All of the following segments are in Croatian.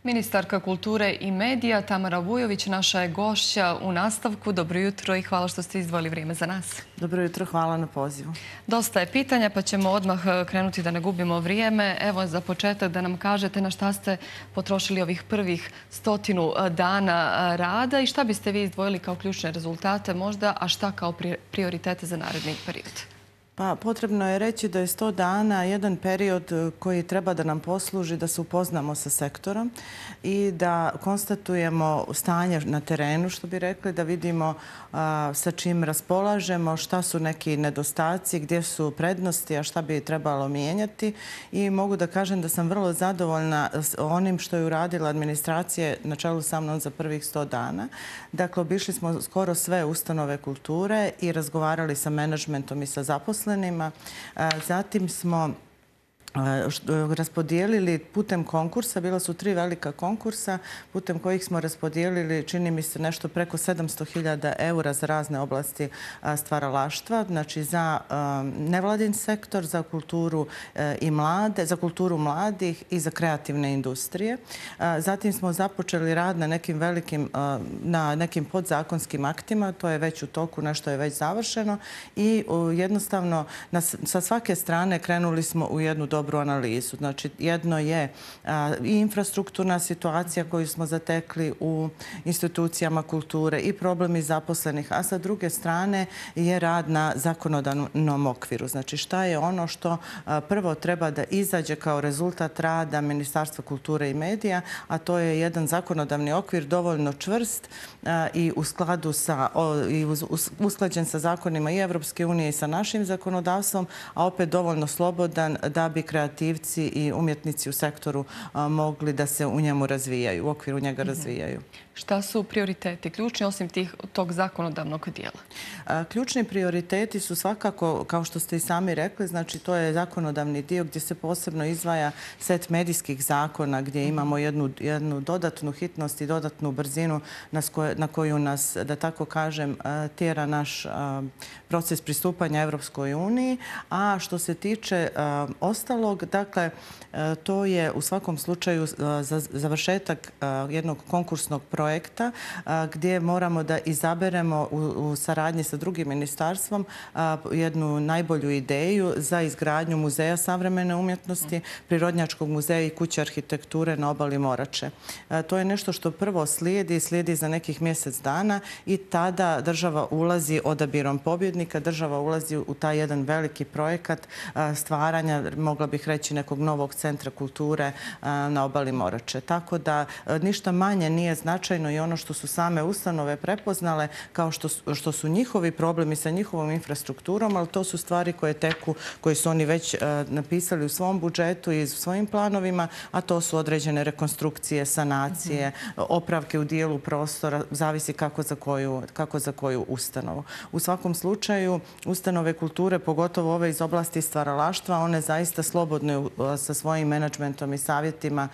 Ministarka kulture i medija Tamara Vujović naša je gošća u nastavku. Dobro jutro i hvala što ste izdvojili vrijeme za nas. Dobro jutro, hvala na pozivu. Dosta je pitanja pa ćemo odmah krenuti da ne gubimo vrijeme. Evo za početak da nam kažete na šta ste potrošili ovih prvih 100 dana rada i šta biste vi izdvojili kao ključne rezultate možda, a šta kao prioritete za naredni period? Pa potrebno je reći da je 100 dana jedan period koji treba da nam posluži da se upoznamo sa sektorom i da konstatujemo stanje na terenu, što bi rekli, da vidimo sa čim raspolažemo, šta su neki nedostaci, gdje su prednosti, a šta bi trebalo mijenjati. I mogu da kažem da sam vrlo zadovoljna onim što je uradila administracija na čelu sa mnom za prvih 100 dana. Dakle, obišli smo skoro sve ustanove kulture i razgovarali sa menadžmentom i sa zaposlenima. Zatim smo raspodijelili putem konkursa, bila su 3 velika konkursa, putem kojih smo raspodijelili, čini mi se, nešto preko 700.000 eura za razne oblasti stvaralaštva, znači za nevladin sektor, za kulturu i mlade, za kulturu mladih i za kreativne industrije. Zatim smo započeli rad na nekim podzakonskim aktima, to je već u toku, nešto je već završeno i jednostavno sa svake strane krenuli smo u jednu dobru analizu. Znači, jedno je i infrastrukturna situacija koju smo zatekli u institucijama kulture i problemi zaposlenih, a sa druge strane je rad na zakonodavnom okviru. Znači, šta je ono što prvo treba da izađe kao rezultat rada Ministarstva kulture i medija, a to je jedan zakonodavni okvir dovoljno čvrst i u skladu sa, usklađen sa zakonima i Evropske unije i sa našim zakonodavstvom, a opet dovoljno slobodan da bi kreativci i umjetnici u sektoru mogli da se u njemu razvijaju, u okviru njega razvijaju. Šta su prioriteti ključni osim tog zakonodavnog dijela? Ključni prioriteti su svakako, kao što ste i sami rekli, znači to je zakonodavni dio gdje se posebno izdvaja set medijskih zakona gdje imamo jednu dodatnu hitnost i dodatnu brzinu na koju nas, da tako kažem, tjera naš proces pristupanja Evropskoj uniji. A što se tiče ostalog, dakle, to je u svakom slučaju završetak jednog konkursnog projekta gdje moramo da izaberemo u saradnji sa drugim ministarstvom jednu najbolju ideju za izgradnju muzeja savremene umjetnosti, Prirodnjačkog muzeja i kuće arhitekture na obali Morače. To je nešto što prvo slijedi za nekih mjesec dana i tada država ulazi odabirom pobjednika, država ulazi u taj jedan veliki projekat stvaranja, mogla bih reći, nekog novog centra kulture na obali Morače. Tako da ništa manje nije značajno i ono što su same ustanove prepoznale kao što su njihovi problemi sa njihovom infrastrukturom, ali to su stvari koje teku, koje su oni već napisali u svom budžetu i u svojim planovima, a to su određene rekonstrukcije, sanacije, opravke u dijelu prostora, zavisi kako za koju ustanovu. U svakom slučaju, ustanove kulture, pogotovo ove iz oblasti stvaralaštva, one zaista slobodno sa svojim menadžmentom i savjetima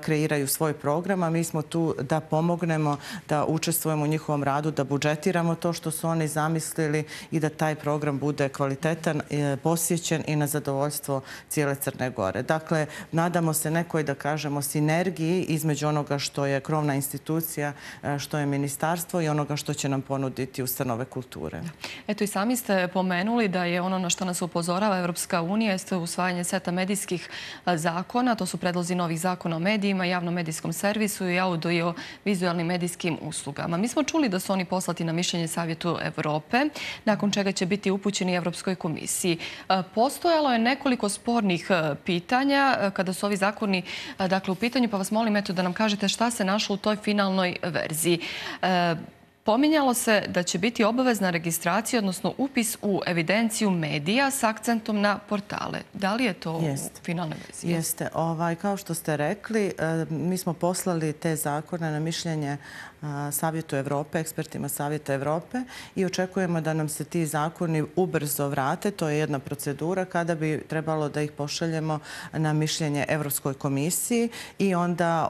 kreiraju svoj program, a mi smo tu da pomognemo, da učestvujemo u njihovom radu, da budžetiramo to što su oni zamislili i da taj program bude kvalitetan, posjećen i na zadovoljstvo cijele Crne Gore. Dakle, nadamo se nekoj, da kažemo, sinergiji između onoga što je krovna institucija, što je ministarstvo i onoga što će nam ponuditi ustanove kulture. Eto i sami ste pomenuli da je ono na što nas upozorava Evropska unija jeste usvajanje seta medijskih zakona. To su predlozi novih zakona o medijima, javnom medijskom servisu i audio-vizualnim medijskim uslugama. Mi smo čuli da su oni poslati na mišljenje Savjetu Evrope, nakon čega će biti upućeni Evropskoj komisiji. Postojalo je nekoliko spornih pitanja kada su ovi zakoni u pitanju, pa vas molim da nam kažete šta se našlo u toj finalnoj verziji. Pominjalo se da će biti obavezna registracija, odnosno upis u evidenciju medija s akcentom na portale. Da li je to u finalnoj verziji? Jeste. Kao što ste rekli, mi smo poslali te zakone na mišljenje Savjetu Evrope, ekspertima Savjeta Evrope i očekujemo da nam se ti zakoni ubrzo vrate. To je jedna procedura kada bi trebalo da ih pošaljemo na mišljenje Evropskoj komisiji i onda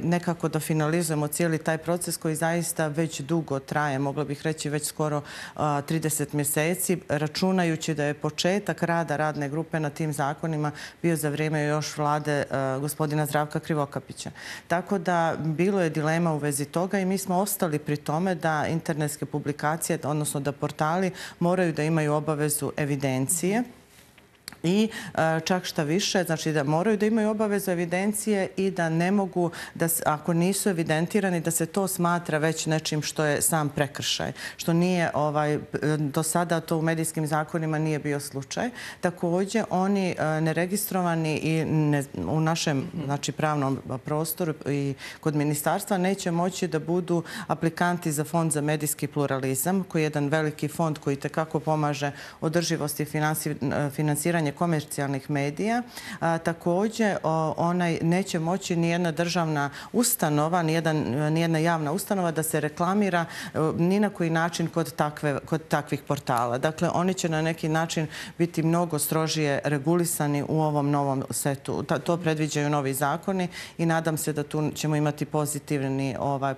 nekako da finalizujemo cijeli taj proces koji zaista već dugo dugo traje, mogla bih reći već skoro 30 mjeseci, računajući da je početak rada radne grupe na tim zakonima bio za vrijeme još vlade gospodina Zdravka Krivokapića. Tako da bilo je dilema u vezi toga i mi smo ostali pri tome da internetske publikacije, odnosno da portali moraju da imaju obavezu evidencije. I čak šta više, znači da moraju da imaju obavezu evidencije i da ne mogu, da ako nisu evidentirani, da se to smatra već nečim što je sam prekršaj. Što nije, do sada to u medijskim zakonima nije bio slučaj. Također, oni neregistrovani i u našem pravnom prostoru i kod ministarstva neće moći da budu aplikanti za Fond za medijski pluralizam, koji je jedan veliki fond koji tekako pomaže održivosti i finansiranje komercijalnih medija. Također, onaj neće moći nijedna državna ustanova, nijedna javna ustanova da se reklamira ni na koji način kod takvih portala. Dakle, oni će na neki način biti mnogo strožije regulisani u ovom novom setu. To predviđaju novi zakoni i nadam se da tu ćemo imati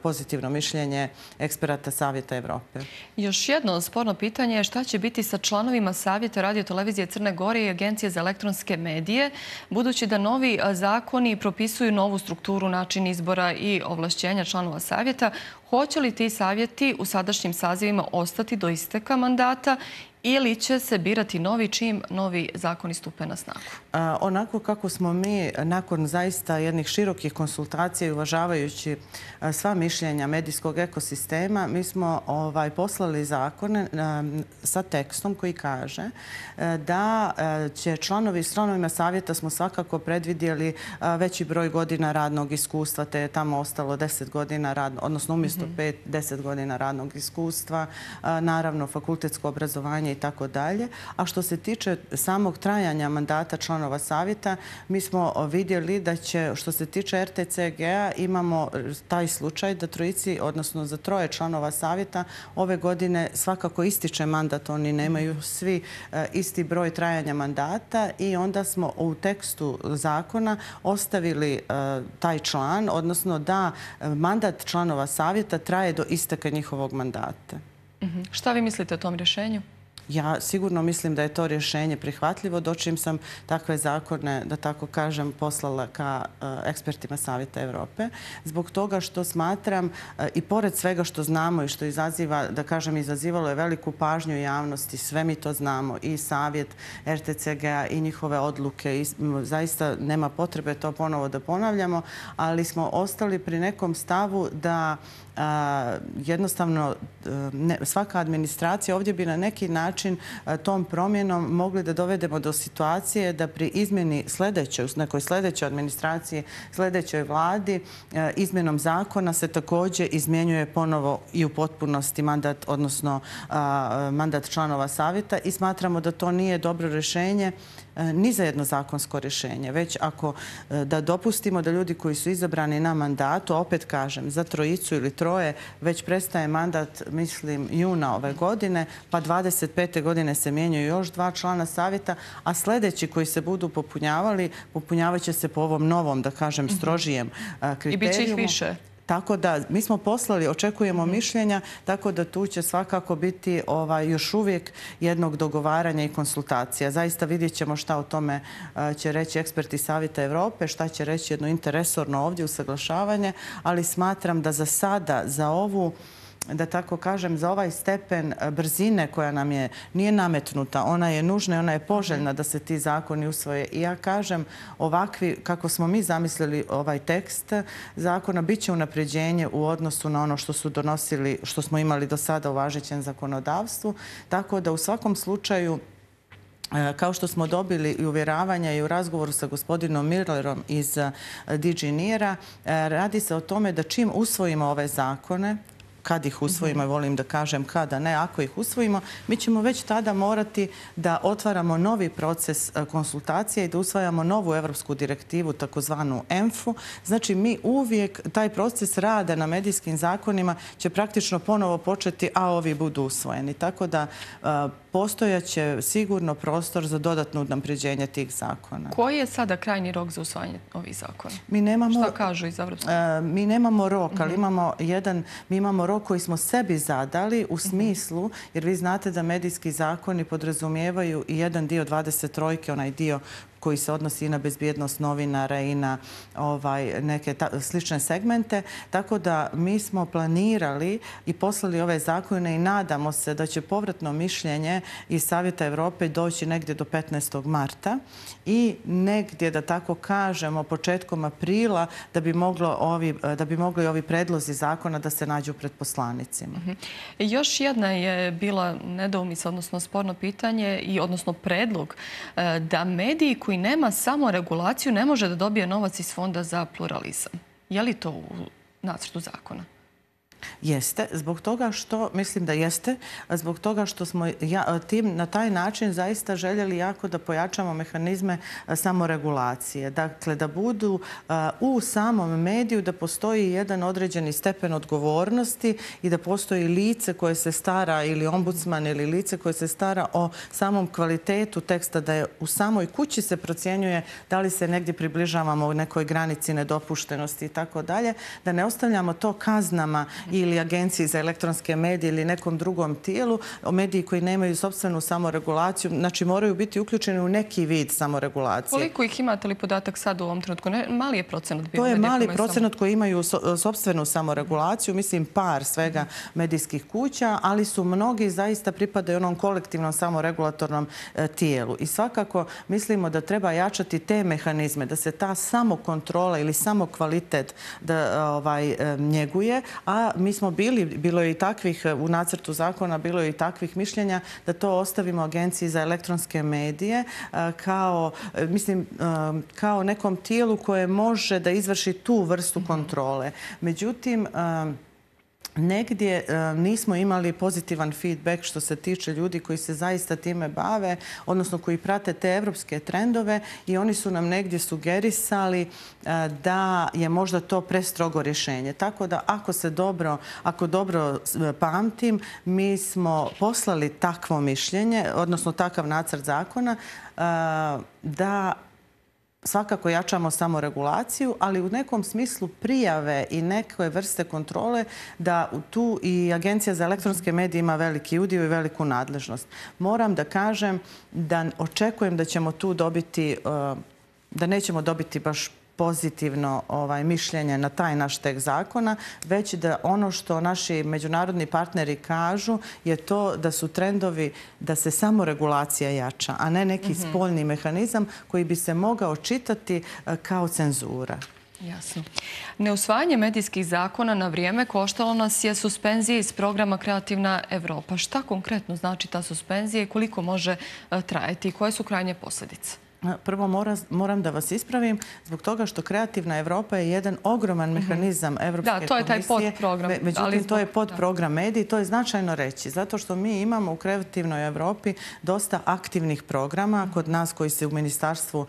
pozitivno mišljenje eksperata Savjeta Evrope. Još jedno sporno pitanje je šta će biti sa članovima Savjeta Radio-televizije Crne Gore i Agencije za elektronske medije, budući da novi zakoni propisuju novu strukturu, način izbora i ovlašćenja članova savjeta. Hoće li ti savjeti u sadašnjim sazivima ostati do isteka mandata ili će se birati novi čim novi zakoni stupe na snagu? Onako kako smo mi nakon zaista jednih širokih konsultacija i uvažavajući sva mišljenja medijskog ekosistema, mi smo poslali zakone sa tekstom koji kaže da će članovima savjeta smo svakako predvidjeli veći broj godina radnog iskustva, te je tamo ostalo 10 godina, odnosno umjesto 5-10 godina radnog iskustva, naravno fakultetsko obrazovanje i tako dalje. A što se tiče samog trajanja mandata članova savjeta, mi smo vidjeli da će, što se tiče RTCG-a, imamo taj slučaj da trojici, odnosno za 3 članova savjeta, ove godine svakako ističe mandat. Oni nemaju svi isti broj trajanja mandata i onda smo u tekstu zakona ostavili taj član, odnosno da mandat članova savjeta traje do isteka njihovog mandata. Šta vi mislite o tom rješenju? Ja sigurno mislim da je to rješenje prihvatljivo, dočim sam takve zakone, da tako kažem, poslala ka ekspertima Savjeta Evrope. Zbog toga što smatram, i pored svega što znamo i što izaziva, da kažem, izazivalo je veliku pažnju javnosti, sve mi to znamo, i Savjet RTCG-a i njihove odluke, i zaista nema potrebe to ponovo da ponavljamo, ali smo ostali pri nekom stavu da jednostavno svaka administracija ovdje bi na neki način tom promjenom mogli da dovedemo do situacije da pri izmjeni nekoj sljedećoj administraciji, sljedećoj vladi, izmjenom zakona se također izmjenjuje ponovo i u potpunosti mandat, odnosno mandat članova savjeta, i smatramo da to nije dobro rješenje ni za jedno zakonsko rješenje, već ako da dopustimo da ljudi koji su izabrani na mandatu, opet kažem, za 3 ili 3 već prestaje mandat, mislim, juna ove godine, pa 25. godine se mijenjaju još 2 člana savjeta, a sljedeći koji se budu popunjavali, popunjavat će se po ovom novom, da kažem, strožijem kriterijumu. I bit će ih više. Tako da mi smo poslali, očekujemo mišljenja, tako da tu će svakako biti još uvijek jednog dogovaranja i konsultacija. Zaista vidjet ćemo šta o tome će reći eksperti Savjeta Evrope, šta će reći jedno interesorno ovdje usaglašavanje, ali smatram da za sada, za ovu, da tako kažem, za ovaj stepen brzine koja nam nije nametnuta, ona je nužna i ona je poželjna da se ti zakoni usvoje. I ja kažem, ovakvi, kako smo mi zamislili ovaj tekst zakona, bit će unapređenje u odnosu na ono što su donosili, što smo imali do sada u važećem zakonodavstvu. Tako da u svakom slučaju, kao što smo dobili i uvjeravanja i u razgovoru sa gospodinom Millerom iz DG NIR-a, radi se o tome da čim usvojimo ove zakone, kad ih usvojimo, volim da kažem kada ne, ako ih usvojimo, mi ćemo već tada morati da otvaramo novi proces konsultacije i da usvajamo novu evropsku direktivu, takozvanu EMF-u. Znači, mi uvijek, taj proces rada na medijskim zakonima će praktično ponovo početi, a ovi budu usvojeni. Tako da postojaće sigurno prostor za dodatno unapređenje tih zakona. Koji je sada krajnji rok za usvajanje ovih zakona? Šta kažu iz Evropske? Mi nemamo rok, ali mi imamo rok koji smo sebi zadali u smislu, jer vi znate da medijski zakoni podrazumijevaju i jedan dio 23, onaj dio koji se odnosi i na bezbjednost novinara i na neke slične segmente. Tako da mi smo planirali i poslali ove zakone i nadamo se da će povratno mišljenje iz Savjeta Evrope doći negdje do 15. marta i negdje, da tako kažemo, početkom aprila da bi mogli ovi predlozi zakona da se nađu pred poslanicima. Još jedna je bila nedoumica, odnosno sporno pitanje i odnosno predlog da mediji koji nema samo regulaciju ne može da dobije novac iz Fonda za pluralizam. Je li to u nacrtu zakona? Jeste, zbog toga što, mislim da jeste, zbog toga što smo na taj način zaista željeli jako da pojačamo mehanizme samoregulacije. Dakle, da budu u samom mediju, da postoji jedan određeni stepen odgovornosti i da postoji lice koje se stara, ili ombudsman, ili lice koje se stara o samom kvalitetu teksta, da je u samoj kući se procjenjuje da li se negdje približavamo u nekoj granici nedopuštenosti i tako dalje, da ne ostavljamo to kaznama ili Agenciji za elektronske medije ili nekom drugom tijelu, mediji koji nemaju sopstvenu samoregulaciju, znači moraju biti uključeni u neki vid samoregulacije. Koliko ih imate li podatak sad u ovom trenutku? Mali je procenat bio. To je mali procenat koji imaju sopstvenu samoregulaciju, mislim par svega medijskih kuća, ali su mnogi zaista pripadaju onom kolektivnom samoregulatornom tijelu. I svakako mislimo da treba jačati te mehanizme, da se ta samokontrola ili samokvalitet njeguje, a mi smo bilo je i takvih, u nacrtu zakona bilo je i takvih mišljenja da to ostavimo Agenciji za elektronske medije kao nekom tijelu koje može da izvrši tu vrstu kontrole. Međutim, negdje nismo imali pozitivan feedback što se tiče ljudi koji se zaista time bave, odnosno koji prate te evropske trendove i oni su nam negdje sugerisali da je možda to prestrogo rješenje. Tako da ako dobro pamtim, mi smo poslali takvo mišljenje, odnosno takav nacrt zakona, da svakako jačamo samoregulaciju, ali u nekom smislu prijave i neke vrste kontrole da tu i Agencija za elektronske medije ima veliki udio i veliku nadležnost. Moram da kažem da očekujem da ćemo tu dobiti, da nećemo dobiti baš pozitivno mišljenje na taj naš tekst zakona, već da ono što naši međunarodni partneri kažu je to da su trendovi da se samoregulacija jača, a ne neki spoljni mehanizam koji bi se mogao čitati kao cenzura. Jasno. Neusvajanje medijskih zakona na vrijeme koštalo nas je suspenzije iz programa Kreativna Evropa. Šta konkretno znači ta suspenzija i koliko može trajati i koje su krajnje posljedice? Prvo moram da vas ispravim zbog toga što Kreativna Evropa je jedan ogroman mehanizam Evropske komisije. Da, to je taj podprogram. Međutim, to je podprogram mediji. To je značajno reći, zato što mi imamo u Kreativnoj Evropi dosta aktivnih programa kod nas koji se u ministarstvu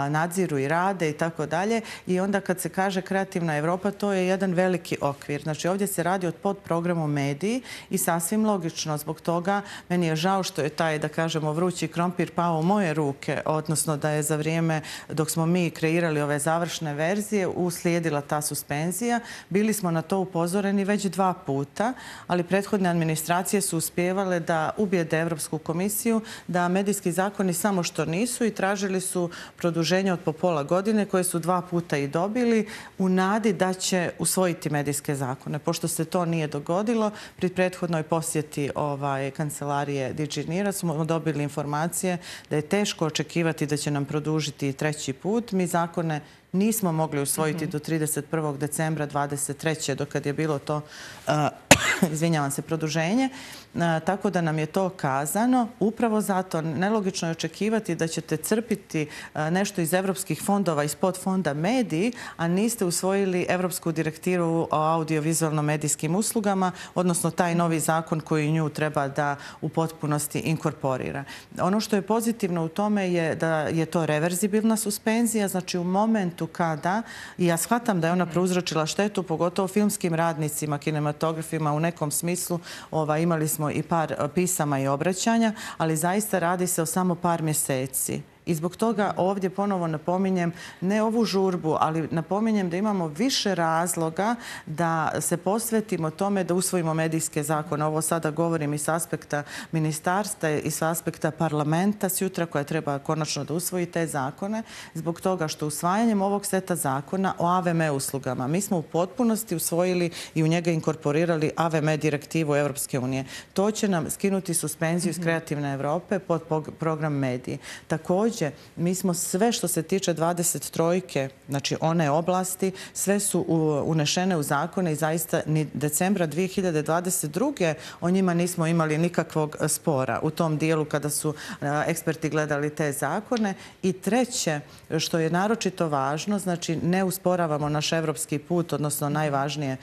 nadziru i rade i tako dalje. I onda kad se kaže Kreativna Evropa, to je jedan veliki okvir. Znači, ovdje se radi o podprogramu mediji i sasvim logično zbog toga meni je žao što je taj, da kažemo, vrući krompir pao u moje ruke, odnosno da je za vrijeme dok smo mi kreirali ove završne verzije uslijedila ta suspenzija. Bili smo na to upozoreni već 2 puta, ali prethodne administracije su uspjevale da ubijede Evropsku komisiju da medijski zakoni samo što nisu i tražili su produženje od po pola godine koje su 2 puta i dobili u nadi da će usvojiti medijske zakone. Pošto se to nije dogodilo, pri prethodnoj posjeti kancelarije DG-NIR-a smo dobili informacije da je teško očekivati da će nam produžiti 3. put. Mi zakone nismo mogli usvojiti do 31. decembra 2023. dokad je bilo to, izvinjavam se, produženje. Tako da nam je to kazano. Upravo zato nelogično je očekivati da ćete crpiti nešto iz evropskih fondova, iz podfonda mediji, a niste usvojili Evropsku direktivu o audiovizualno-medijskim uslugama, odnosno taj novi zakon koji nju treba da u potpunosti inkorporira. Ono što je pozitivno u tome je da je to reverzibilna suspenzija, znači u momentu kada, i ja shvatam da je ona prouzročila štetu, pogotovo filmskim radnicima, kinematografima, u nekom smislu. Imali smo i par pisama i obraćanja, ali zaista radi se o samo par mjeseci. I zbog toga ovdje ponovo napominjem, ne ovu žurbu, ali napominjem da imamo više razloga da se posvetimo tome da usvojimo medijske zakone. Ovo sada govorim i s aspekta ministarstva i s aspekta parlamenta sutra koja treba konačno da usvoji te zakone, zbog toga što usvajanjem ovog seta zakona o AVM uslugama mi smo u potpunosti usvojili i u njega inkorporirali AVM direktivu Europske unije. To će nam skinuti suspenziju iz Kreativne Evrope pod program mediji. Također, mi smo sve što se tiče 23-ke, znači one oblasti, sve su unešene u zakone i zaista ni decembra 2022. o njima nismo imali nikakvog spora u tom dijelu kada su eksperti gledali te zakone. I treće, što je naročito važno, znači ne usporavamo naš evropski put, odnosno najvažnije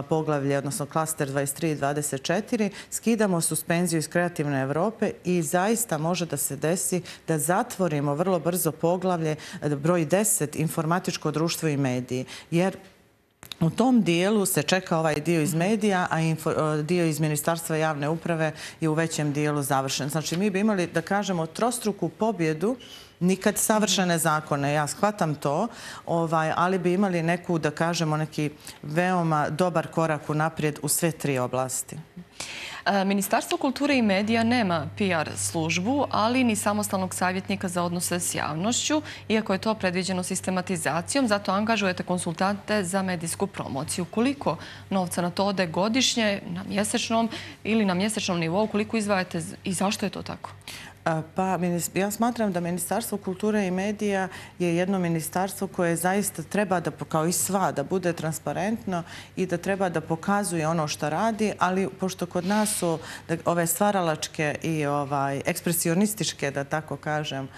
poglavlje, odnosno klaster 23 i 24, skidamo suspenziju iz Kreativne Evrope i zaista može da se desi da zatvorimo vrlo brzo poglavlje broj 10, informatičko društvo i mediji. Jer u tom dijelu se čeka ovaj dio iz medija, a dio iz Ministarstva javne uprave je u većem dijelu završen. Znači, mi bi imali, da kažemo, trostruku pobjedu, nikad savršene zakone, ja shvatam to, ali bi imali neku, da kažemo, neki veoma dobar korak unaprijed u sve tri oblasti. Ministarstvo kulture i medija nema PR službu, ali ni samostalnog savjetnika za odnose s javnošću, iako je to predviđeno sistematizacijom, zato angažujete konsultante za medijsku promociju. Koliko novca na to ode godišnje, na mjesečnom ili na mjesečnom nivou, koliko izdvajate i zašto je to tako? Pa, ja smatram da Ministarstvo kulture i medija je jedno ministarstvo koje zaista treba da, kao i sva, da bude transparentno i da treba da pokazuje ono što radi, ali pošto kod nas su ove stvaralačke i ekspresionističke, da tako kažem,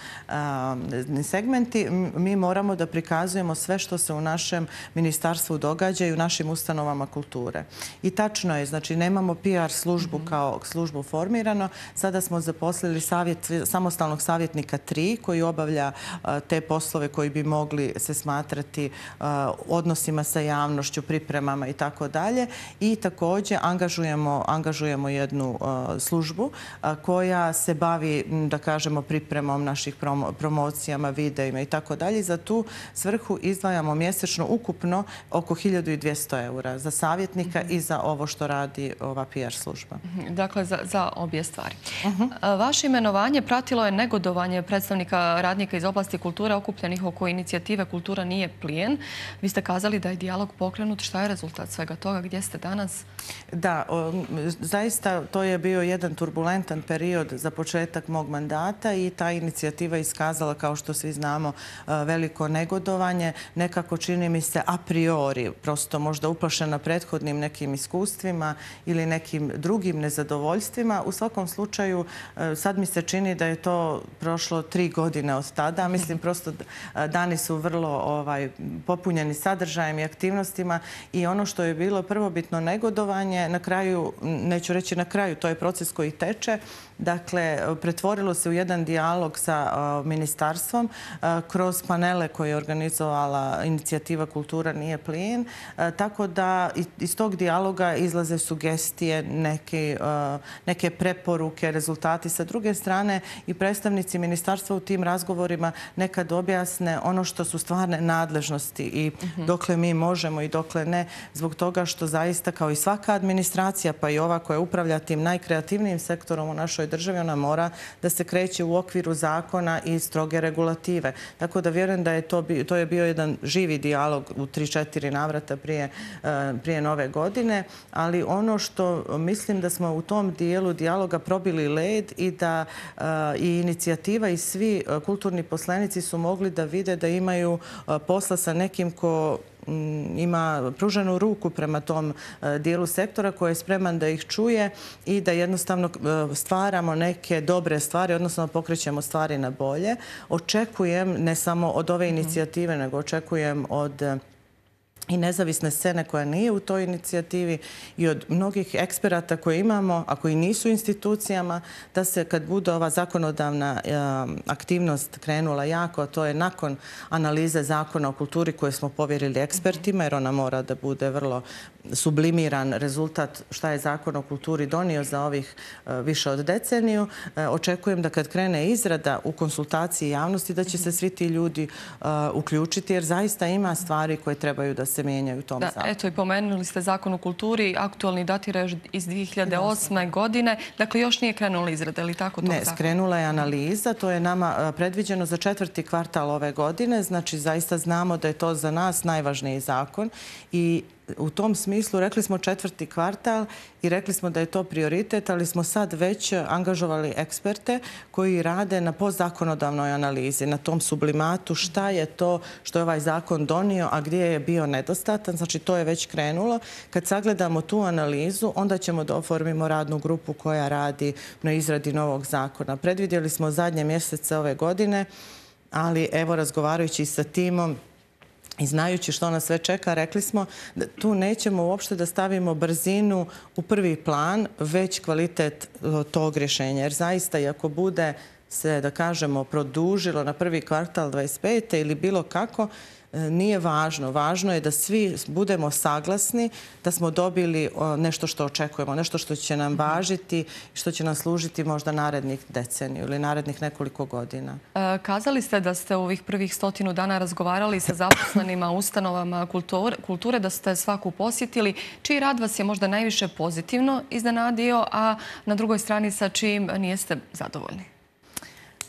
segmenti, mi moramo da prikazujemo sve što se u našem ministarstvu događa i u našim ustanovama kulture. I tačno je, znači nemamo PR službu kao službu formirano. Sada smo zaposlili samostalnog savjetnika 3 koji obavlja te poslove koji bi mogli se smatrati odnosima sa javnošću, pripremama i tako dalje. I također angažujemo jednu službu koja se bavi, da kažemo, pripremom naših promocijama, videima i tako dalje. Za tu svrhu izdvajamo mjesečno ukupno oko 1200 eura za savjetnika i za ovo što radi ova PR služba. Dakle, za obje stvari. Vaše imenovanje pratilo je negodovanje predstavnika radnika iz oblasti kulture okupljenih oko inicijative Kultura nije plijen. Vi ste kazali da je dijalog pokrenut. Šta je rezultat svega toga? Gdje ste danas? Da, zaista to je bio jedan turbulentan period za početak mog mandata i ta inicijativa iskazala, kao što svi znamo, veliko negodovanje. Nekako čini mi se a priori, prosto možda uplašena prethodnim nekim iskustvima ili nekim drugim nezadovoljstvima. U svakom slučaju, sad mi se čini da je to prošlo 3 godine od tada. Mislim, prosto dani su vrlo popunjeni sadržajem i aktivnostima i ono što je bilo prvobitno negodovanje, na kraju, neću reći na kraju, to je proces koji teče. Dakle, pretvorilo se u jedan dijalog sa ministarstvom kroz panele koje je organizovala inicijativa Kultura nije plijen. Tako da iz tog dijaloga izlaze sugestije, neke preporuke, rezultati. Sa druge strane, i predstavnici ministarstva u tim razgovorima nekad objasne ono što su stvarne nadležnosti i dokle mi možemo i dokle ne, zbog toga što zaista kao i svaka administracija, pa i ova koja upravlja tim najkreativnijim sektorom u našoj državi, ona mora da se kreće u okviru zakona i stroge regulative. Tako da vjerujem da je to je bio jedan živi dijalog u 3-4 navrata prije nove godine, ali ono što mislim da smo u tom dijelu dijaloga probili led i da i inicijativa i svi kulturni poslenici su mogli da vide da imaju posla sa nekim ko ima pruženu ruku prema tom dijelu sektora koji je spreman da ih čuje i da jednostavno stvaramo neke dobre stvari, odnosno pokrećemo stvari na bolje. Očekujem ne samo od ove inicijative, nego očekujem od i nezavisne scene koja nije u toj inicijativi i od mnogih eksperata koje imamo, a koji nisu u institucijama, da se kad bude ova zakonodavna aktivnost krenula jako, a to je nakon analize zakona o kulturi koje smo povjerili ekspertima, jer ona mora da bude vrlo sublimiran rezultat šta je zakon o kulturi donio za ovih više od deceniju. Očekujem da kad krene izrada u konsultaciji javnosti da će se svi ti ljudi uključiti, jer zaista ima stvari koje trebaju da se mijenjaju u tom zakonu. Eto, i pomenuli ste zakon o kulturi, aktualni datira još iz 2008. godine. Dakle, još nije krenula izrada, ili tako? Ne, skrenula je analiza. To je nama predviđeno za 4. kvartal ove godine. Znači, zaista znamo da je to za nas najvažniji zakon i u tom smislu rekli smo 4. kvartal i rekli smo da je to prioritet, ali smo sad već angažovali eksperte koji rade na postzakonodavnoj analizi, na tom sublimatu šta je to što je ovaj zakon donio, a gdje je bio nedostatan. Znači, to je već krenulo. Kad sagledamo tu analizu, onda ćemo da oformimo radnu grupu koja radi na izradi novog zakona. Predvidjeli smo zadnje mjesece ove godine, ali evo, razgovarajući sa timom i znajući što nas sve čeka, rekli smo da tu nećemo uopšte da stavimo brzinu u prvi plan, već kvalitet tog rješenja. Jer zaista, i ako bude se, da kažemo, produžilo na 1. kvartal 25. ili bilo kako, nije važno. Važno je da svi budemo saglasni, da smo dobili nešto što očekujemo, nešto što će nam važiti, što će nam služiti možda narednih deceniju ili narednih nekoliko godina. Kazali ste da ste u ovih prvih 100 dana razgovarali sa zaposlenima u ustanovama kulture, da ste svaku posjetili. Čiji rad vas je možda najviše pozitivno iznenadio, a na drugoj strani sa čijim nijeste zadovoljni?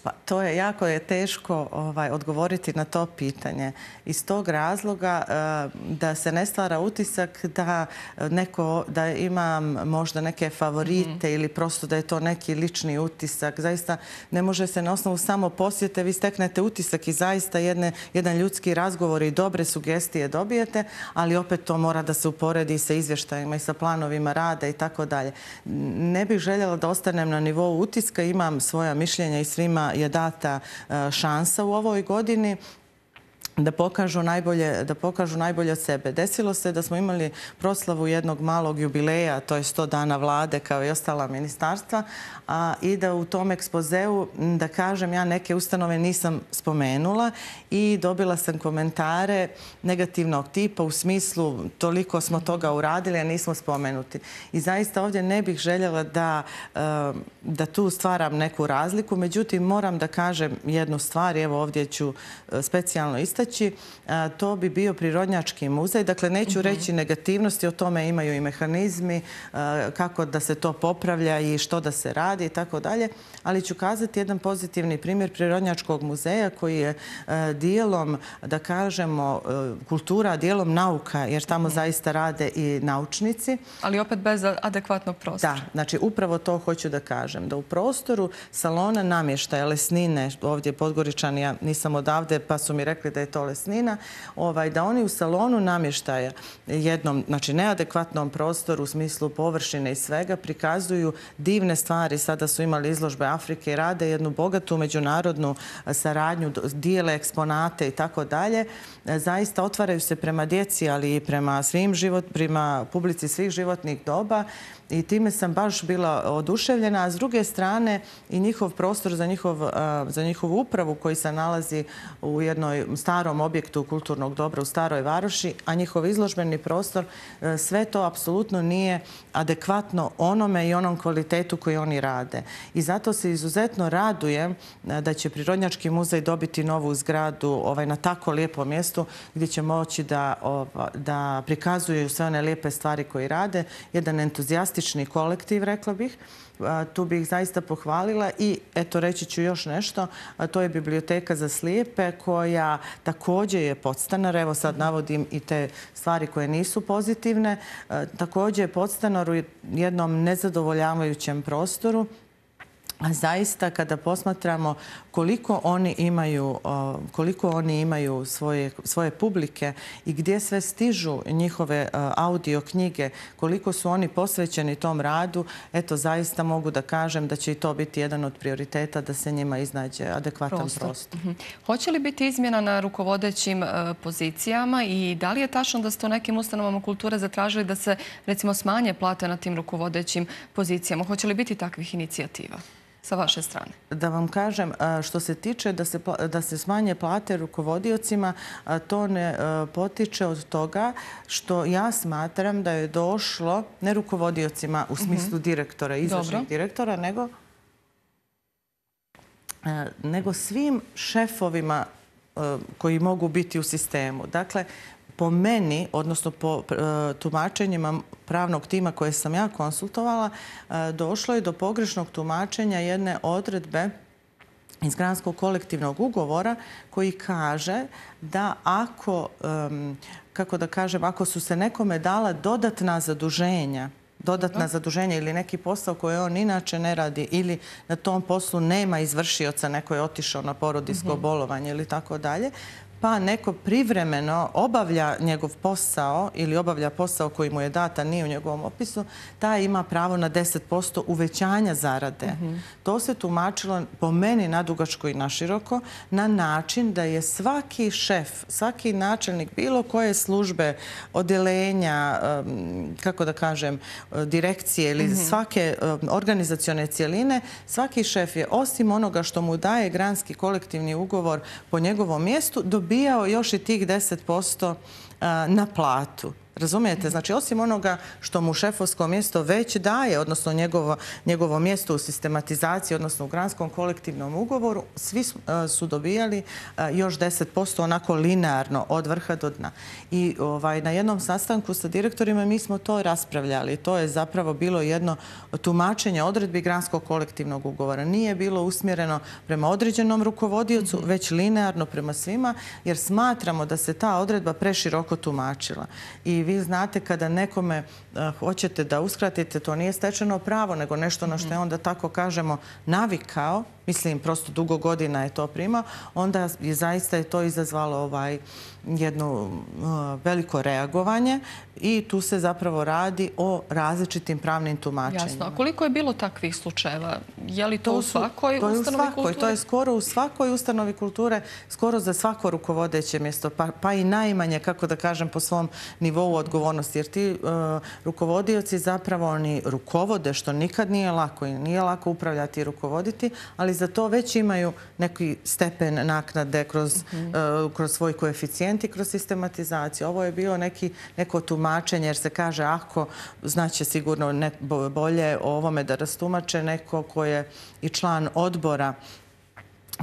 Pa to je jako teško odgovoriti na to pitanje. Iz tog razloga da se ne stvara utisak da imam možda neke favorite ili prosto da je to neki lični utisak. Zaista ne može se na osnovu samo posjete, vi steknete utisak i zaista jedan ljudski razgovor i dobre sugestije dobijete, ali opet to mora da se uporedi sa izvještajima i sa planovima rada i tako dalje. Ne bih željela da ostanem na nivou utiska, imam svoja mišljenja i svima je data šansa u ovoj godini da pokažu najbolje od sebe. Desilo se da smo imali proslavu jednog malog jubileja, to je 100 dana vlade kao i ostala ministarstva, i da u tom ekspozeu, da kažem, ja neke ustanove nisam spomenula i dobila sam komentare negativnog tipa u smislu toliko smo toga uradili, a nismo spomenuti. I zaista ovdje ne bih željela da tu stvaram neku razliku, međutim moram da kažem jednu stvar, evo ovdje ću specijalno istaći. To bi bio Prirodnjački muzej. Dakle, neću reći negativnosti, o tome imaju i mehanizmi, kako da se to popravlja i što da se radi i tako dalje, ali ću kazati jedan pozitivni primjer Prirodnjačkog muzeja koji je dijelom, da kažemo, kultura, dijelom nauka, jer tamo zaista rade i naučnici. Ali opet bez adekvatnog prostora. Da, znači upravo to hoću da kažem, da u prostoru salona namještaja, lesnine, ovdje Podgoričani, ja nisam odavde pa su mi rekli da je to lesnina, da oni u salonu namještaja jednom, znači neadekvatnom prostoru u smislu površine i svega prikazuju divne stvari. Sada su imali izložbe Afrike i rade jednu bogatu međunarodnu saradnju, dijele eksponate i tako dalje. Zaista otvaraju se prema djeci, ali i prema publici svih životnih doba i time sam baš bila oduševljena. A s druge strane i njihov prostor za njihovu upravu koji se nalazi u jednom starom objektu kulturnog dobra u Staroj Varoši, a njihov izložbeni prostor, sve to apsolutno nije adekvatno onome i onom kvalitetu koji oni rade. I zato se izuzetno radujem da će Prirodnjački muzej dobiti novu zgradu na tako lijepom mjestu gdje će moći da prikazuju sve one lijepe stvari koje rade. Jedan entuzijastični kolektiv, rekla bih. Tu bih zaista pohvalila i eto reći ću još nešto, a to je Biblioteka za slijepe koja također je podstanar. Evo sad navodim i te stvari koje nisu pozitivne. Također je podstanar u jednom nezadovoljavajućem prostoru A zaista kada posmatramo koliko oni imaju svoje publike i gdje sve stižu njihove audio knjige, koliko su oni posvećeni tom radu, eto zaista mogu da kažem da će i to biti jedan od prioriteta da se njima iznađe adekvatan prostor. Hoće li biti izmjena na rukovodećim pozicijama i da li je tačno da ste u nekim ustanovama kulture zatražili da se recimo smanje plate na tim rukovodećim pozicijama? Hoće li biti takvih inicijativa sa vaše strane? Da vam kažem, što se tiče da se smanje plate rukovodiocima, to ne potiče od toga što ja smatram da je došlo, ne rukovodiocima u smislu direktora, izvršnih direktora, nego svim šefovima koji mogu biti u sistemu. Dakle, po meni, odnosno po tumačenjima pravnog tima koje sam ja konsultovala, došlo je do pogrešnog tumačenja jedne odredbe iz Granskog kolektivnog ugovora koji kaže da ako su se nekome dala dodatna zaduženja ili neki posao koji on inače ne radi ili na tom poslu nema izvršioca, neko je otišao na porodiljsko bolovanje ili tako dalje, pa neko privremeno obavlja njegov posao ili obavlja posao koji mu je data, nije u njegovom opisu, taj ima pravo na 10% uvećanja zarade. To se tumačilo po meni nadugačko i naširoko na način da je svaki šef, svaki načelnik bilo koje službe, odeljenja, kako da kažem, direkcije ili svake organizacione cijeline, svaki šef je osim onoga što mu daje Granski kolektivni ugovor po njegovom mjestu dobijao još i tih 10% na platu. Razumijete? Znači, osim onoga što mu šefovsko mjesto već daje, odnosno njegovo mjesto u sistematizaciji, odnosno u Granskom kolektivnom ugovoru, svi su dobijali još 10% onako linearno od vrha do dna. I na jednom sastanku sa direktorima mi smo to raspravljali. To je zapravo bilo jedno tumačenje odredbi Granskog kolektivnog ugovora. Nije bilo usmjereno prema određenom rukovodiocu, već linearno prema svima, jer smatramo da se ta odredba preširoko tumačila. I vi znate kada nekome hoćete da uskratite, to nije stečeno pravo, nego nešto na što je onda, tako kažemo, navikao, mislim, prosto dugo godina je to primao, onda je zaista to izazvalo jedno veliko reagovanje i tu se zapravo radi o različitim pravnim tumačenjima. Jasno. A koliko je bilo takvih slučajeva? Je li to u svakoj ustanovi kulture? To je skoro u svakoj ustanovi kulture, skoro za svako rukovodeće mjesto, pa i najmanje, kako da kažem, po svom nivou odgovornosti. Jer ti rukovodioci zapravo oni rukovode, što nikad nije lako i nije lako upravljati i rukovoditi, ali za to već imaju neki stepen naknade kroz svoj koeficijent i kroz sistematizaciju. Ovo je bilo neko tumačenje, jer se kaže ako znaće sigurno bolje o ovome da rastumače neko ko je i član odbora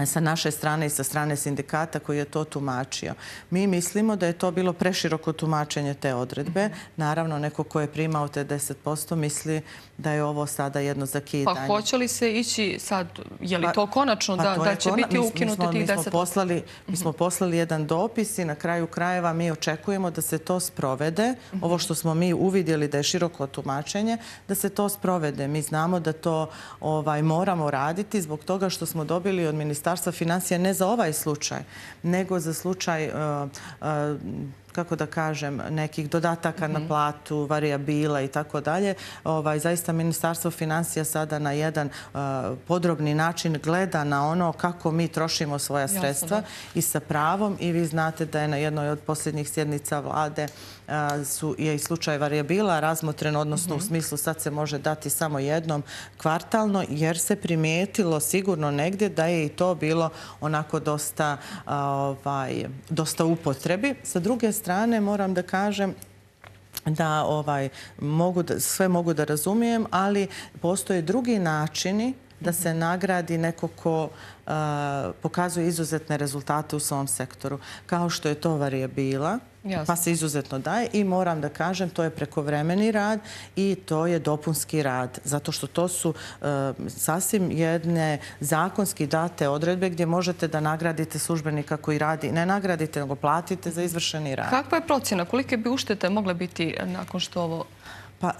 sa naše strane i sa strane sindikata koji je to tumačio. Mi mislimo da je to bilo preširoko tumačenje te odredbe. Naravno, neko ko je primao te 10% misli da je ovo sada jedno zakidanje. Pa hoće li se ići sad, je li to konačno da će biti ukinuti tih 10%? Mi smo poslali jedan dopis i na kraju krajeva mi očekujemo da se to sprovede. Ovo što smo mi uvidjeli da je široko tumačenje, da se to sprovede. Mi znamo da to moramo raditi zbog toga što smo dobili od Ministarstva financija ne za ovaj slučaj, nego za slučaj kako da kažem, nekih dodataka na platu, varijabila i tako dalje. Zaista Ministarstvo financija sada na jedan podrobni način gleda na ono kako mi trošimo svoja sredstva i sa pravom. I vi znate da je na jednoj od posljednjih sjednica vlade je i slučaj varijabila razmotren, odnosno u smislu sad se može dati samo jednom kvartalno, jer se primijetilo sigurno negdje da je i to bilo onako dosta upotrebi. Sa druge strane moram da kažem da sve mogu da razumijem, ali postoje drugi načini da se nagradi neko ko pokazuje izuzetne rezultate u svom sektoru, kao što je to varijabila, pa se izuzetno daje i moram da kažem, to je prekovremeni rad i to je dopunski rad, zato što to su sasvim jedne zakonski date odredbe gdje možete da nagradite službenika koji radi, ne nagradite, nego platite za izvršeni rad. Kakva je procjena? Kolike bi uštete mogle biti nakon što ovo Pa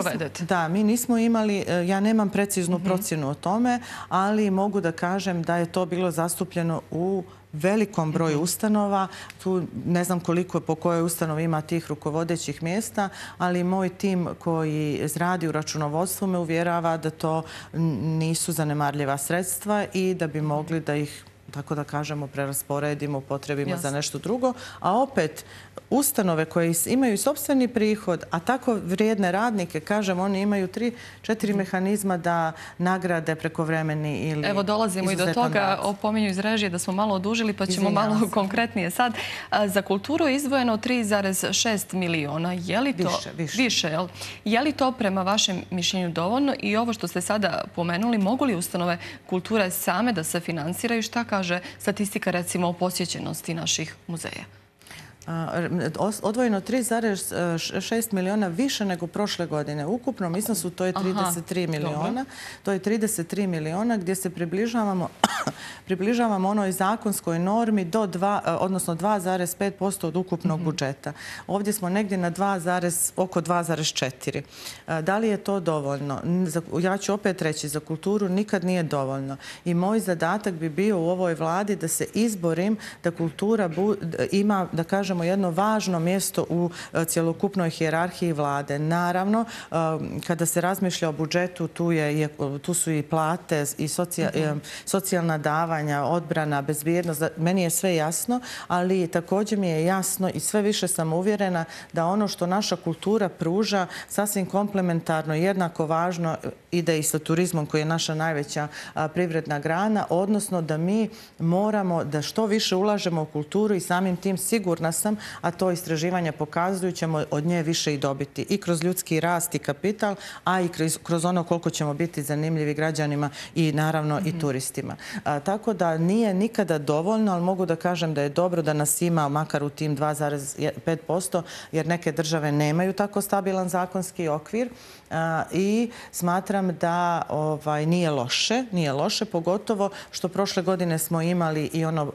sprovedete? mi nismo imali, ja nemam preciznu procjenu o tome, ali mogu da kažem da je to bilo zastupljeno u velikom broju ustanova. Tu ne znam koliko po kojoj ustanovi ima tih rukovodećih mjesta, ali moj tim koji radi u računovodstvu me uvjerava da to nisu zanemarljiva sredstva i da bi mogli da ih, tako da kažemo, prerasporedimo, upotrebimo za nešto drugo. A opet, ustanove koje imaju i sopstveni prihod, a tako vrijedne radnike, kažem, oni imaju 3-4 mehanizma da nagrade prekovremeni ili izuzetan rad. Evo, dolazimo i do toga, opominju iz režije da smo malo odužili, pa ćemo malo konkretnije sad. Za kulturu je izdvojeno 3,6 miliona. Je li to više? Je li to prema vašem mišljenju dovoljno? I ovo što ste sada pomenuli, mogu li ustanove kulture same da se finansiraju? Šta kaže statistika, recimo, o posjećenosti naših muzeja? Odvojeno 3,6 miliona više nego prošle godine. U ukupnom iznosu to je 33 miliona. To je 33 miliona gdje se približavamo onoj zakonskoj normi do 2, odnosno 2,5% od ukupnog budžeta. Ovdje smo negdje na oko 2,4. Da li je to dovoljno? Ja ću opet reći, za kulturu nikad nije dovoljno. I moj zadatak bi bio u ovoj vladi da se izborim da kultura ima, da kažem, jedno važno mjesto u cjelokupnoj hijerarhiji vlade. Naravno, kada se razmišlja o budžetu, tu su i plate i socijalna davanja, odbrana, bezbjednost. Meni je sve jasno, ali također mi je jasno i sve više sam uvjerena da ono što naša kultura pruža sasvim komplementarno, jednako važno ide i sa turizmom koji je naša najveća privredna grana, odnosno da mi moramo da što više ulažemo u kulturu i samim tim sigurna sam, a to istraživanja pokazuju, ćemo od nje više i dobiti. I kroz ljudski rast i kapital, a i kroz ono koliko ćemo biti zanimljivi građanima i naravno i turistima. Tako da nije nikada dovoljno, ali mogu da kažem da je dobro da nas ima makar u tim 2,5%, jer neke države nemaju tako stabilan zakonski okvir i smatram da nije loše, pogotovo što prošle godine smo imali i ono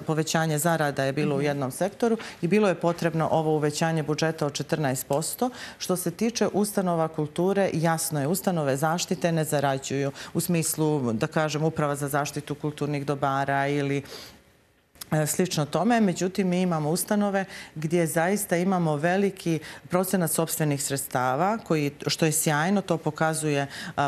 povećanje zarada je bilo u jednom sektoru i bilo je potrebno ovo uvećanje budžeta od 14%. Što se tiče ustanova kulture, jasno je, ustanove zaštite ne zarađuju u smislu, da kažem, Uprava za zaštitu kulturnih dobara ili slično tome. Međutim, mi imamo ustanove gdje zaista imamo veliki procenat sopstvenih sredstava, što je sjajno, to pokazuje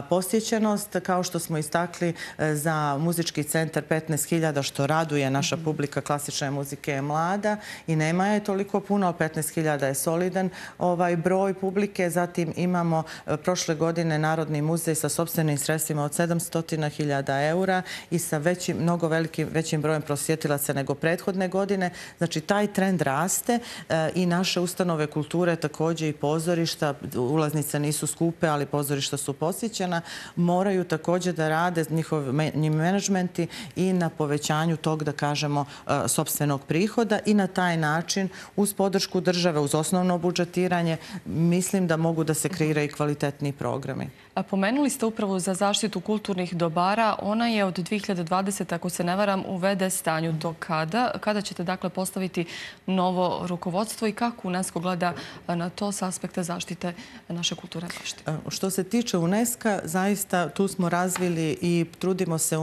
posjećenost. Kao što smo istakli za muzički centar 15.000, što raduje, naša publika klasične muzike je mlada i nema je toliko puno, ali 15.000 je solidan broj publike. Zatim imamo prošle godine Narodni muzej sa sopstvenim sredstvima od 700.000 eura i sa mnogo većim brojem prosjetilaca nego prethodne godine. Znači, taj trend raste i naše ustanove kulture, također i pozorišta, ulaznice nisu skupe, ali pozorišta su posjećena, moraju također da rade njihovi menadžmenti i na povećanju tog, da kažemo, sopstvenog prihoda i na taj način, uz podršku države, uz osnovno budžetiranje, mislim da mogu da se kreiraju i kvalitetni programi. Pomenuli ste Upravu za zaštitu kulturnih dobara. Ona je od 2020, ako se ne varam, u VD stanju. Do kada? Kada ćete, dakle, postaviti novo rukovodstvo i kako UNESCO gleda na to s aspekta zaštite naše kulturne baštine? Što se tiče UNESCO, zaista tu smo razvili i trudimo se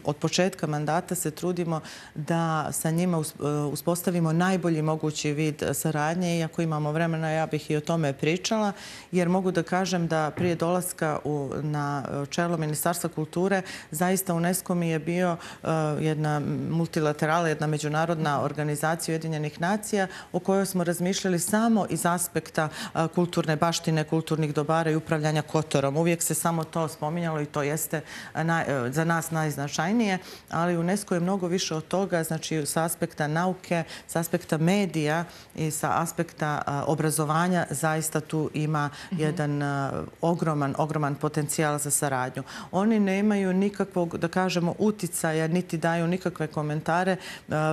od početka mandata se trudimo da sa njima uspostavimo najbolji mogući vid saradnje. Iako imamo vremena, ja bih i o tome pričala, jer mogu da kažem da prije dolaska na čelo Ministarstva kulture, zaista UNESCO mi je bio jedna multilaterala, jedna međunarodna organizacija Ujedinjenih nacija o kojoj smo razmišljali samo iz aspekta kulturne baštine, kulturnih dobara i upravljanja Kotorom. Uvijek se samo to spominjalo i to jeste za nas najznačajnije, ali UNESCO je mnogo više od toga, znači sa aspekta nauke, sa aspekta medija i sa aspekta obrazovanja zaista tu ima jedan ogroman potencijal za saradnju. Oni nemaju nikakvog, da kažemo, uticaja, niti daju nikakve komentare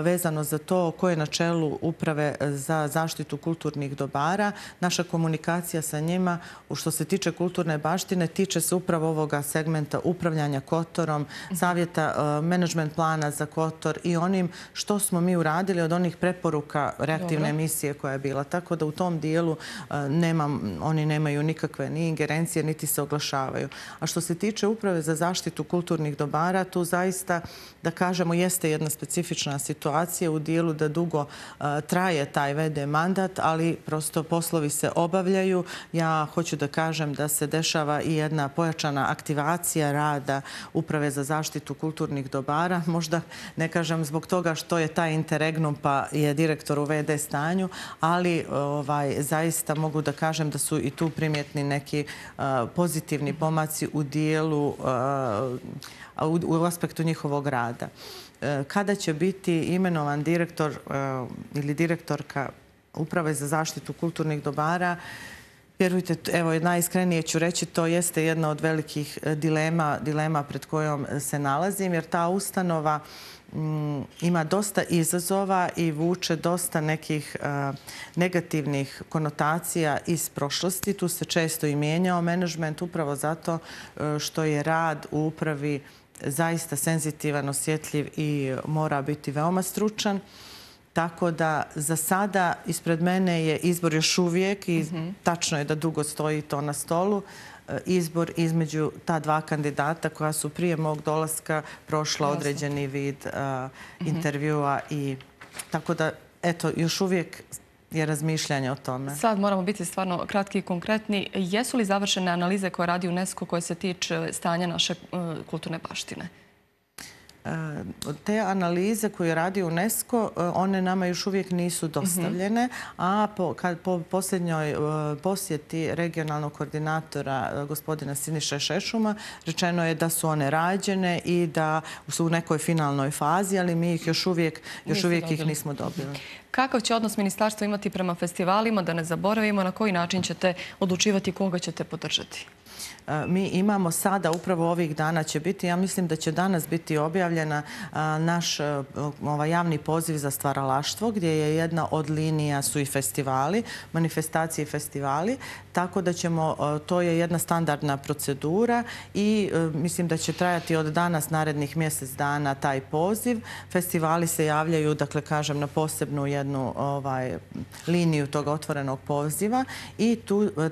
vezano za to ko je na čelu uprave za zaštitu kulturnih dobara. Naša komunikacija sa njima, što se tiče kulturne baštine, tiče se upravo ovoga segmenta upravljanja Kotorom, savjeta, menadžment plana za Kotor i onim što smo mi uradili od onih preporuka reaktivne emisije koja je bila. Tako da u tom dijelu oni nemaju nikakve ni ingerencije, niti se oglašavaju. A što se tiče uprave za zaštitu kulturnih dobara, tu zaista, da kažemo, jeste jedna specifična situacija u dijelu da dugo traje taj VD mandat, ali prosto poslovi se obavljaju. Ja hoću da kažem da se dešava i jedna pojačana aktivacija rada uprave za zaštitu kulturnih dobara. Možda ne kažem zbog toga što je taj interregnum pa je direktor u VD stanju, ali zaista mogu da kažem da su i tu primjetni neki pozitivni pomaci u dijelu, u aspektu njihovog rada. Kada će biti imenovan direktor ili direktorka Uprave za zaštitu kulturnih dobara, vjerujte, evo, najiskrenije ću reći, to jeste jedna od velikih dilema pred kojom se nalazim, jer ta ustanova ima dosta izazova i vuče dosta nekih negativnih konotacija iz prošlosti. Tu se često i mijenjao menadžment upravo zato što je rad u upravi zaista senzitivan, osjetljiv i mora biti veoma stručan. Tako da za sada ispred mene je izbor još uvijek i tačno je da dugo stoji to na stolu. Izbor između ta dva kandidata koja su prije mog dolaska prošla određeni vid intervjua i tako da, eto, još uvijek je razmišljanje o tome. Sad moramo biti stvarno kratki i konkretni. Jesu li završene analize koje radi UNESCO koje se tiče stanja naše kulturne baštine? Te analize koje radi UNESCO, one nama još uvijek nisu dostavljene, a po posljednjoj posjeti regionalnog koordinatora gospodina Siniše Šešuma rečeno je da su one rađene i da su u nekoj finalnoj fazi, ali mi ih još uvijek ih nismo dobili. Kakav će odnos ministarstvo imati prema festivalima, da ne zaboravimo, na koji način ćete odlučivati koga ćete podržati? Mi imamo sada, upravo ovih dana će biti, ja mislim da će danas biti objavljena naš javni poziv za stvaralaštvo, gdje je jedna od linija su i festivali, manifestacije i festivali, tako da ćemo, to je jedna standardna procedura i mislim da će trajati od danas narednih mjesec dana taj poziv. Festivali se javljaju, dakle kažem, na posebnu jednu liniju tog otvorenog poziva i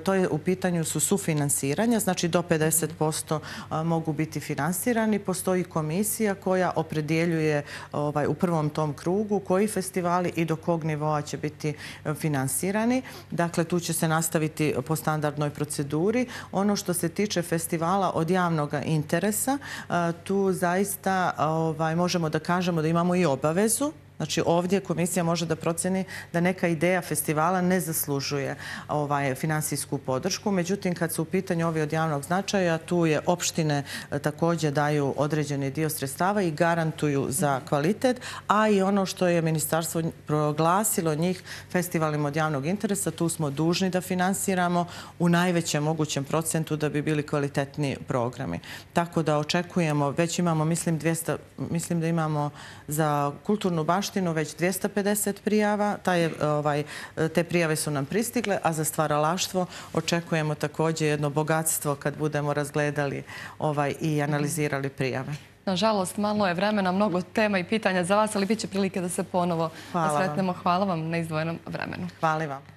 to je u pitanju su sufinansiranja, znači do 50% mogu biti finansirani. Postoji komisija koja opredjeljuje u prvom tom krugu koji festivali i do kog nivoa će biti finansirani. Dakle, tu će se nastaviti po standardnoj proceduri. Ono što se tiče festivala od javnog interesa, tu zaista možemo da kažemo da imamo i obavezu. Znači, ovdje komisija može da proceni da neka ideja festivala ne zaslužuje finansijsku podršku. Međutim, kad su u pitanju ovi od javnog značaja, tu je opštine također daju određeni dio sredstava i garantuju za kvalitet, a i ono što je ministarstvo proglasilo njih festivalima od javnog interesa, tu smo dužni da finansiramo u najvećem mogućem procentu da bi bili kvalitetni programi. Tako da očekujemo, već imamo, mislim da imamo za kulturnu baštinu već 250 prijava. Te prijave su nam pristigle, a za stvaralaštvo očekujemo također jedno bogatstvo kad budemo razgledali i analizirali prijave. Nažalost, malo je vremena, mnogo tema i pitanja za vas, ali bit će prilike da se ponovo sretnemo. Hvala vam na izdvojenom vremenu. Hvala vam.